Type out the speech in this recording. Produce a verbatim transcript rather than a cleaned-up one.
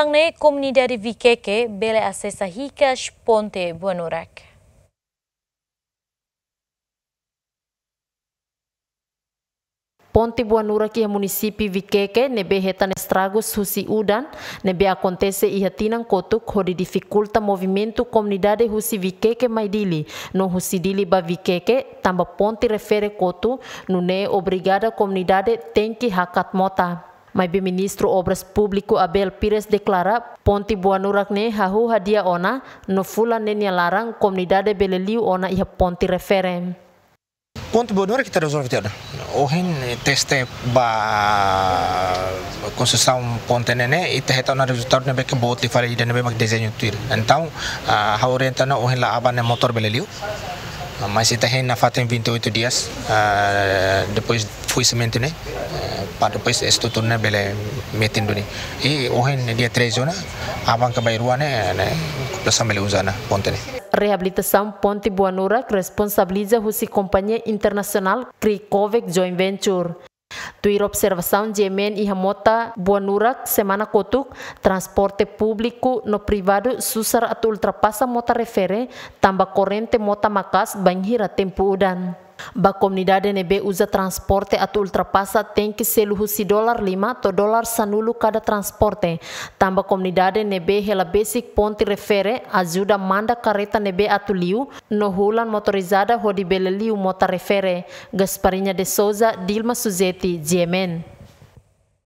Tan ne'e komunidade Viqueque bele asesa hikas ponte Buanurak. Ponte Buanurak iha munisípiu Viqueque ne'ebé hetan estragus husi udan ne'ebé akontese iha tinan kotuk hodi difikulta movimentu komunidade husi Viqueque mai Dili no husi Dili ba Viqueque, tanba ponte refere kotu, nune'e obriga komunidade tenke hakat mota. Maibé Ministru Obras Públiku Abel Pires deklara, ponte Buanurak ne'e hahú hadi'a ona, no fulan ne'e nia laran komunidade bele liu ona iha ponte refere. Ponte Buanurak ita rezolve tiha ona. Ohin teste ba konstrusaun ponte ne'e, ita hetan ona rezultadu ne'ebé ke boot liu fali ida ne'ebé mak dezeñu tuir. Entaun, ah, ha'u orienta ona ohin la'o aban ne'e motór bele liu. Ah, mas ita hein nafatin vinte e oito dias, ah, depois foisementu ne'e, eh, para depois estrutura ne'e bele metin duni. I ohin ne'e dia treze ona, aban ka bainrua ne'e, ne'e, populasaun bele uza ona ponte ne'e. Reabilitasaun ponte Buanurak responsabiliza husi kompañia internasionál Cricovec Joint Venture. Tuir observasaun GMN iha mota Buanurak semana kotuk, transporte públiku no privadu susar atu ultrapasa mota refere, tanba korrente mota maka'as bainhira tempu udan. Ba komunidade ne'ebé uza transporte atu ultrapasa tenke selu husi dolar lima to'o dolar sanulu kada transporte. Tanba komunidade ne'ebé hela besik ponte refere ajuda manda karreta ne'ebé atu liu no hulan motorizada hodi bele liu mota refere. Gasparinha de Souza, Dilma Suzeti, GMN.